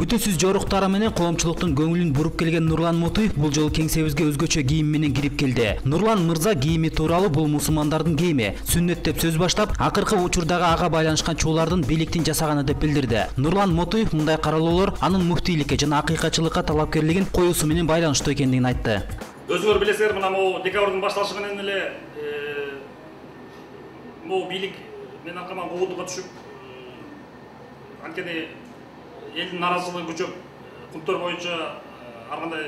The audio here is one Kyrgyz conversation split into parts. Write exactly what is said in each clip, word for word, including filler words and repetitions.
Күтүүсүз жоруктары менен коомчулуктун көңүлүн буруп келген Нурлан Мутуев бул жолу кеңсебизге өзгөчө кийим менен кирип келди. Нурлан мырза кийими тууралуу бул мусулмандардын кийими, сүннөт деп сөз баштап, акыркы учурдагы ага байланышкан чуулардын бийликтин жасаганы деп билдирди. Нурлан Мутуев мындай каралоолор анын муфтийликке жана акыйкатчылыкка талапкерлигин коюусу менен байланыштуу экендигин айтты. Өзүңөр билесиңер, мына могу декабрдын башталышы менен эле могу бийлик мен аркама куугунтукка түшүп, анткени элдин наразылыгы күчөп, кунттар боюнча ар кандай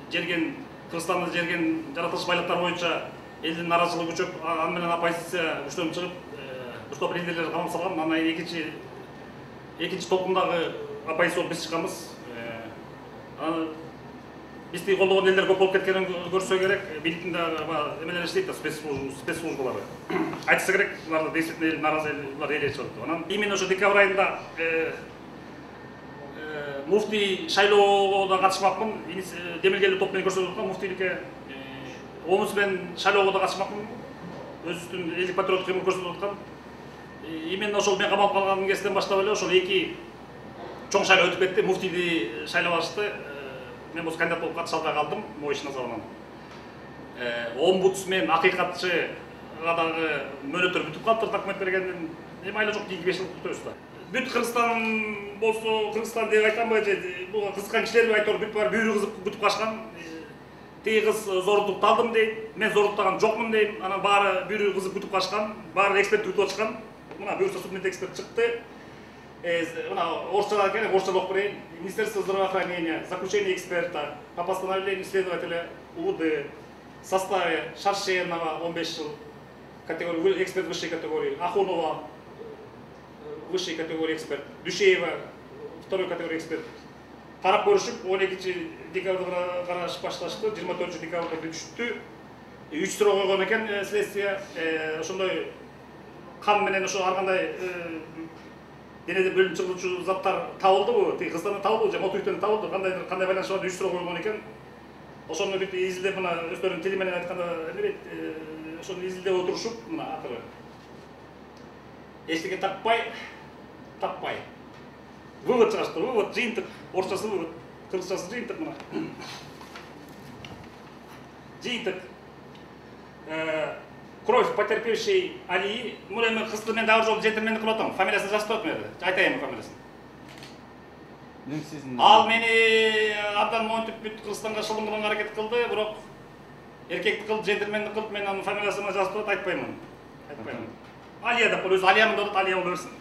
жерген, Кыргызстанды жерген жаратылыш байлыктар боюнча элдин наразылыгы күчөп, аны менен оппозиция күчтөнүп чыгып, дуртоп лидерлер камап салган. Анан экинчи экинчи толкундагы оппозиция болуп биз чыкканбыз. Бизди колдогон элдер көп болуп кеткенин көрсө керек, бийликтин эмелери иштейт да, спецслужбалары. Айтса керек, булар действительно эл наразы, булар эле чыгып. Анан именно ошо декабрь айында муфтий шайлоого катышмакмын. Демилгелүү топ менен көрсөтүп аткан муфтийликке оомуз менен шайлоого да катышмакмын. Өзүбүздүн элдик патриоттук кыймыл көрсөтүп аткан. Именно ошол мен камалып калган кезден баштап эле ошол эки чоң шайлоо өтүп кетти. Муфтийди шайлабашты. Мен бул кандидат болуп катыша албай калдым моюшуна забынан. Омбудсмен, акыйкатчыга дагы мөөнөттөр бүтүп калыптыр документ бергенден. Эми айла жок эки беш жыл күтөбүз да. Бүт Кыргызстан болсо, Кыргызстан деп айтканбы, бул кызыккан кишилерби айтору бүт баары бүйүрү кызып күтүп калышкан. Тиги кыз зордукту алдым дейт, мен зордуктаган жокмун дейм. Анан баары бүйүрү кызып күтүп калышкан, баары эксперт күтүп атышкан. Мына буюрса судмед эксперт чыкты. Мына орусча керек, орусча окуп берейин. Министерство здравоохранения, заключение эксперта по постановлению следователя УВД в составе Шаршенова он беш жыл, категория эксперт высшей категории, Ахунова высшей категории эксперт, Душеева второй категории эксперт. Карап көрүшүп он экинчи декабрда караш башташты, жыйырма төртүнчү декабрда бүтүштү. үч суроо койгон экен следствие. Ошондой кан менен ошо ар кандай денеде бөлүнүп чыгуучу заттар табылдыбы? Тиги кыздан табылды, же Мутуевден табылды. Кандай кандай байланышы бар үч суроо койгон экен. Ошону бүт изилдеп, мына өздөрүнүн тили менен айтканда эмерет, ошону изилдеп отурушуп, мына акыры эчтеке таппай, таппай. Вывод чыгышты, вывод жыйынтык, орусчасы вывод, кыргызчасы жыйынтык мына. Жыйынтык. Кровь потерпевшей Алии. Мына мен кызды мен дагы жолу джентльмендик кылып атам. Фамилиясын жазып атам мен. Айтайын фамилиясын. Мен сиздин Ал мени абдан монтип бүт Кыргызстанга шылым кылганга аракет кылды, бирок эркектик кылып, джентльмендик кылып мен анын фамилиясын жазып атат, айтпаймын. Айтпаймын. Алия деп коет, өзү Алиямын деп атат, Алия боло берсин.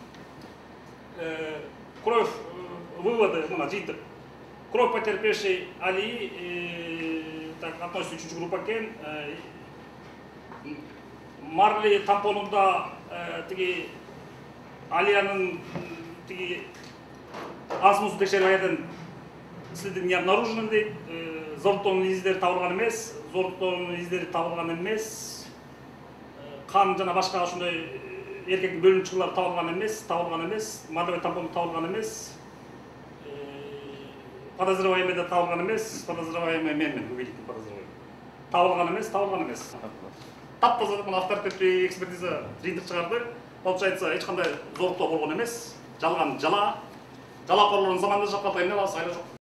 Кровь выводы, мына жыйынтык. Кровь потерпевшей Алии, так относится үчүнчү группа экен. Марли тампонунда тиги Алиянын тиги асмусу текшерип аядын следи не обнаружены дейт. Зордуктоонун издери табылган эмес, зордуктоонун издери табылган эмес. Кан жана башка ошондой эркектин бөлүнүп чыгуулары табылган эмес, табылган эмес. Марлевой тампон табылган эмес. Подозреваемый да табылган эмес. Подозреваемый менмин, убедительный подозреваемый. Табылган эмес, табылган эмес. Таптаза мына авторитеттүү экспертиза жыйынтык чыгарды. Получается, эч кандай зордуктоо болгон эмес. Жалган жала. Жалакорлордун заманында жапкан эмне алабыз, айла жок.